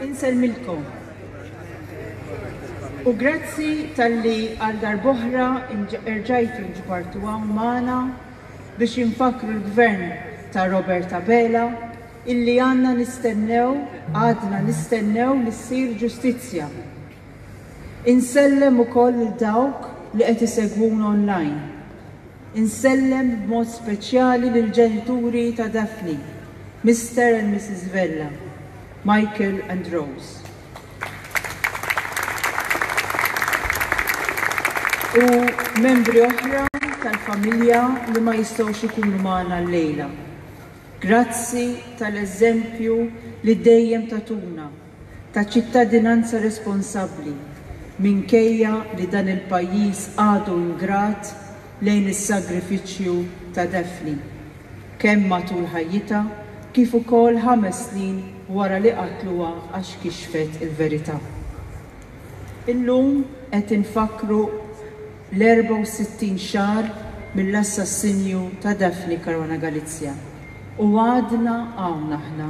Insellmilkom. U grazzi talli għal darb'oħra erġajtu nġbartu hawn magħna biex infakkru l-Gvern ta' Robert Abela illi għandna nistennew, għadna nistennew li ssir ġustizzja. Insellem ukoll lil dawk li qed isegwuna online. Insellem b'mod speċjali lill-ġenituri ta' Daphne, Mister and Missus Vella, Michael and Rose. U membri oħra tal-familja li ma jistgħux ikunu magħna llejla. Grazzi tal-eżempju li dejjem tagħtuna ta' ċittadinanza responsabbli minkejja li dan il-pajjiż għadu ingrat lejn is-sagrifiċċju ta' Daphne, kemm matul ħajjitha kif ukoll ħames snin wara li qatluha għax kixfet il-verità. Illum qed infakkru l-64 xahar mill-assassinju ta' Daphne Caruana Galizia u għadna hawn aħna,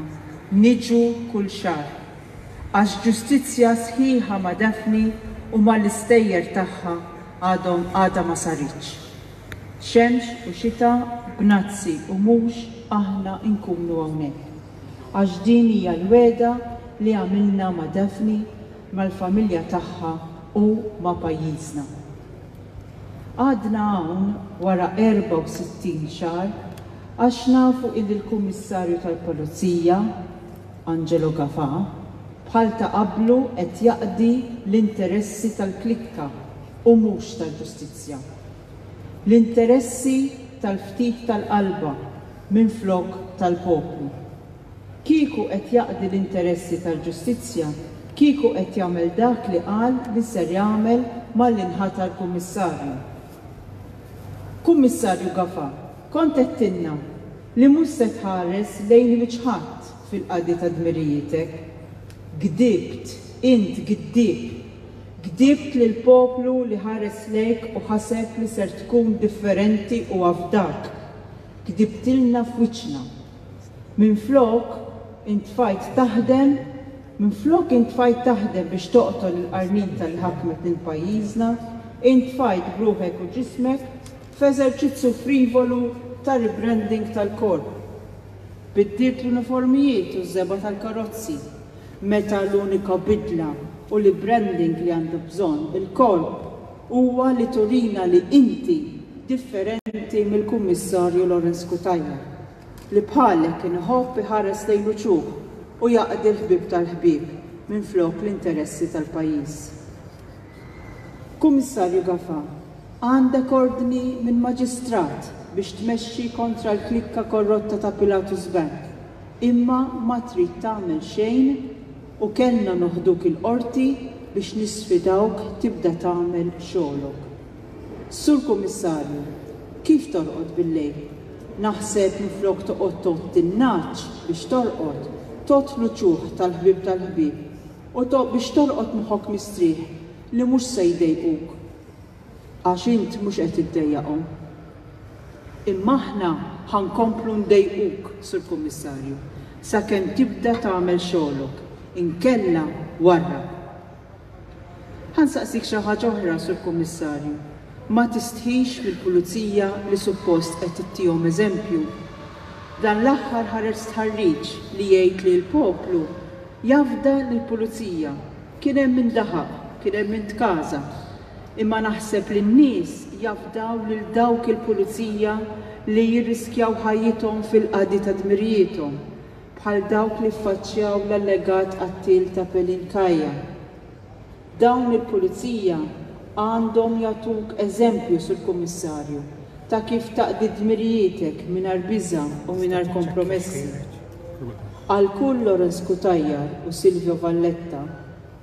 niġu kull xahar. Għax ġustizzja sħiħa ma' Daphne u mal-istejjer tagħha għadhom għadha ma saritx. Xemx u xita, b'nazzi u mhux, aħna nkunu hawnhekk. Għax din hija l-wegħda li għamilna ma' Daphne, mal-familja tagħha u ma' pajjiżna. Għadna hawn wara 64 xahar għax nafu illi l-Kummissarju tal-Pulizija, Angelo Gafà, bħal ta' qablu qed jaqdi l-interessi tal-klikka u mhux tal-ġustizzja. L-interessi tal-ftit tal-qalba minflok tal-poplu. Kieku qed jaqdi l-interessi tal-ġustizzja, kieku qed jagħmel dak li qal li ser jagħmel malli nħatar Kummissarju. Kummissarju Gafà, kont għedtilna li mhux se tħares lejn wiċċ ħadd fil-qadi ta' dmirijietek. Gdibt, int giddieb. Gdibt lill-poplu li ħares lejk u ħaseb li ser tkun differenti u afdak. Gdibtilna f'wiċċna. Minflok, intfajt taħdem, minflok intfajt taħdem biex toqtol il-qarnita li ħakmet lil pajjiżna, intfajt b'ruħek u ġismek f'eżerċizzju frivolu ta' rebranding tal-Korp. Biddilt l-uniformijiet u ż-żebgħa tal-karozzi, meta l-unika bidla u l-ibranding li għandu bżonn il-Korp huwa li turina li inti differenti mill-Kummissarju Lawrence Cutajar. li bħalek kien iħobb iħares lejn l-uċuħ u jaqdi l-ħbieb tal-ħbieb minflok l-interessi tal-pajjiż. Kummissarju Gafà, għandek ordni minn Maġistrat biex tmexxi kontra l-klikka korrotta ta' Pilatus Bank, imma ma trid tagħmel xejn u kellna noħduk il-Qorti biex nisfidawk tibda tagħmel xogħlok. Sur Kummissarju, kif torqod bil-lejl? Naħseb minflok toqgħod tgħodd in-nagħaġ biex torqod, tgħodd l-uċuħ tal-ħbieb tal-ħbieb u biex torqod moħħok mistrieħ li mhux se jdejquk għax int mhux qed iddejjaqhom. Imma aħna ħa nkomplu ndejquk, Sur Kummissarju, sakemm tibda tagħmel xogħlok, inkella warrab. Ħa nsaqsik xi ħaġa oħra, Sur Kummissarju. Ma tistħix mill-Pulizija li suppost qed ittihom eżempju? Dan l-aħħar ħareġ stħarriġ li jgħid li l-poplu jafda lill-Pulizija. Kien hemm min daħaq, kien hemm min tkaża. Imma naħseb li n-nies jafdaw lil dawk il-Pulizija li jirriskjaw ħajjithom fil-qadi ta' dmirijiethom. bħal dawk li ffaċċjaw l-allegat qattiel ta' Pelin Kaya. Dawn il-pulizija għandhom jagħtuk eżempju, Sur Kummissarju, ta' kif taqdi dmirijietek mingħajr biża' u mingħajr kompromessi. Għal kull Lawrence Cutajar u Silvio Valletta,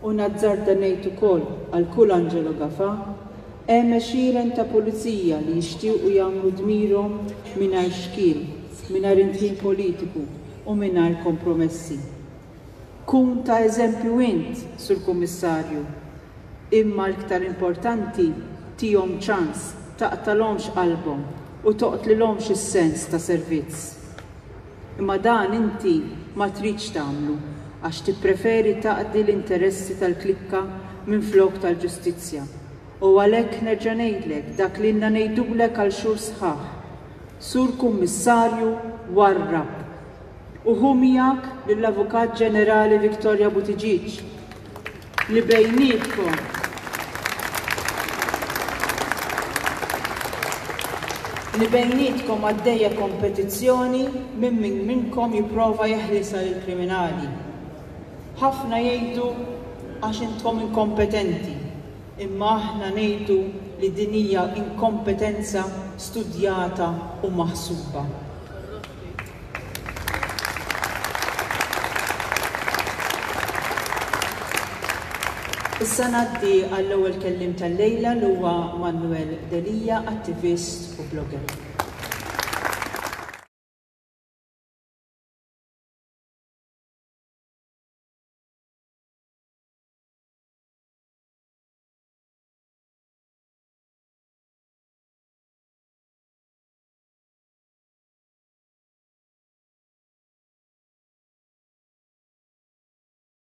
U nazzarda ngħid ukoll għal kull Angelo Gafà, hemm għexieren ta' pulizija li jixtiequ jagħmlu dmirhom mingħajr xkiel, mingħajr indħil politiku u mingħajr kompromessi. Kun ta' eżempju int, Sur Kummissarju. Imma l-ktar importanti, tihom ċans, taqtalhomx qalbhom u toqtlilhomx is-sens ta' servizz. Imma dan inti ma tridx tagħmlu. għax tippreferi taqdi l-interessi tal-klikka minflok tal-ġustizzja. U għalhekk nerġa' ngħidlek dak li ilna ngħidulek għal xhur sħaħ, Sur Kummissarju warrab! U ħu miegħek lill-Avukat Ġenerali Victoria Buttigieg li bejnietkom li bejnietkom għaddejja kompetizzjoni minn min minnkom jipprova jeħlisha lill-kriminali. Ħafna jgħidu għax intom inkompetenti. Imma aħna ngħidu li din hija inkompetenza studjata u maħsuba. Issa ngħaddi għall-ewwel kelliem tal-lejla li huwa Manuel Delia, attivist u blogger.